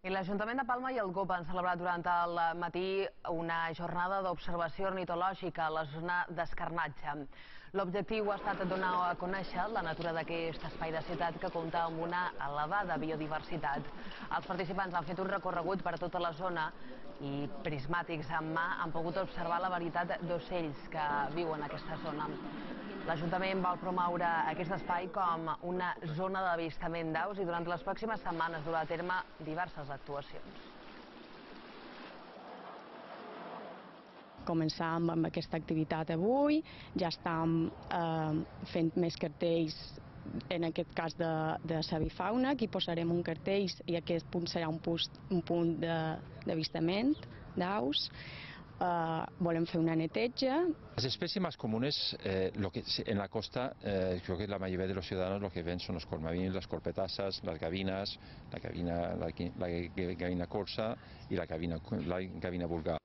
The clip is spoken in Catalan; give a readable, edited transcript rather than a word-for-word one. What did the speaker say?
I l'Ajuntament de Palma i el GOP han celebrat durant el matí una jornada d'observació ornitològica a la zona d'Escarnatge. L'objectiu ha estat donar a conèixer la natura d'aquest espai de ciutat que compta amb una elevada biodiversitat. Els participants han fet un recorregut per tota la zona i prismàtics en mà han pogut observar la varietat d'ocells que viuen en aquesta zona. L'Ajuntament vol promoure aquest espai com una zona d'avistament d'aus i durant les pròximes setmanes durà a terme diverses actuacions. Començàvem amb aquesta activitat avui, ja estem fent més cartells, en aquest cas de l'avifauna. Aquí posarem un cartell i aquest punt serà un punt d'avistament d'aus. Volem fer una neteja. Las especies más comunes en la costa, creo que la mayoría de los ciudadanos lo que ven son los cornavín, las corpetasas, las gavinas, la gavina corsa y la gavina vulgar.